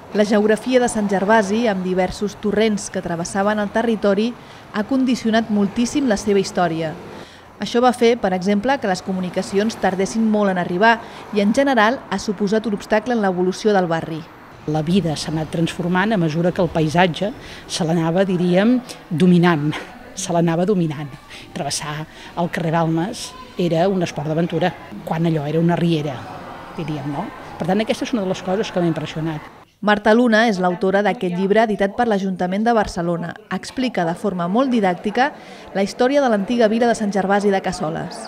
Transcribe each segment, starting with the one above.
La geografia de Sant Gervasi, amb diversos torrents que travessaven el territori, ha condicionat moltíssim la seva història. Això va fer, per exemple, que les comunicacions tardessin molt en arribar i, en general, ha suposat un obstacle en l'evolució del barri. La vida s'ha anat transformant a mesura que el paisatge se l'anava, diríem, dominant. Se l'anava dominant. Travessar el carrer Balmes era un esport d'aventura, quan allò era una riera, diríem, no? Per tant, aquesta és una de les coses que m'ha impressionat. Marta Luna és l'autora d'aquest llibre editat per l'Ajuntament de Barcelona. Explica de forma molt didàctica la història de l'antiga vila de Sant Gervasi de Cassoles.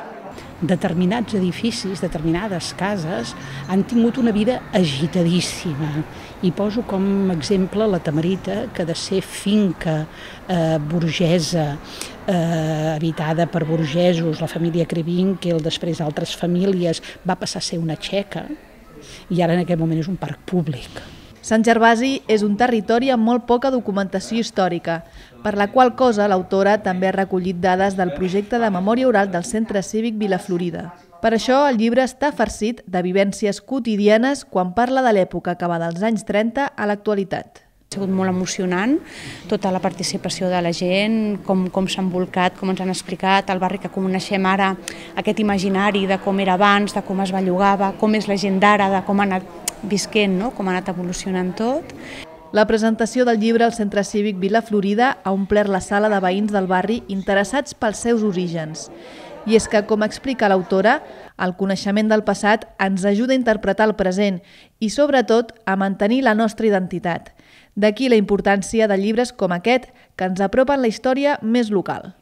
Determinats edificis, determinades cases han tingut una vida agitadíssima. I poso com exemple la Tamarita, que de ser finca burgesa, habitada per burgesos, la família Krewinkel, després altres famílies, va passar a ser una txeca i ara en aquest moment és un parc públic. Sant Gervasi és un territori amb molt poca documentació històrica, per la qual cosa l'autora també ha recollit dades del projecte de memòria oral del Centre Cívic Vilaflorida. Per això el llibre està farcit de vivències quotidianes quan parla de l'època que va dels anys 30 a l'actualitat. Ha sigut molt emocionant, tota la participació de la gent, com s'ha envolcat, com ens han explicat, el barri que coneixem ara, aquest imaginari de com era abans, de com es bellugava, com és la gent d'ara, de com ha anat visquent, no? Com ha anat evolucionant tot. La presentació del llibre al Centre Cívic Vilaflorida ha omplert la sala de veïns del barri interessats pels seus orígens. I és que, com explica l'autora, el coneixement del passat ens ajuda a interpretar el present i, sobretot, a mantenir la nostra identitat. D'aquí la importància de llibres com aquest, que ens apropen la història més local.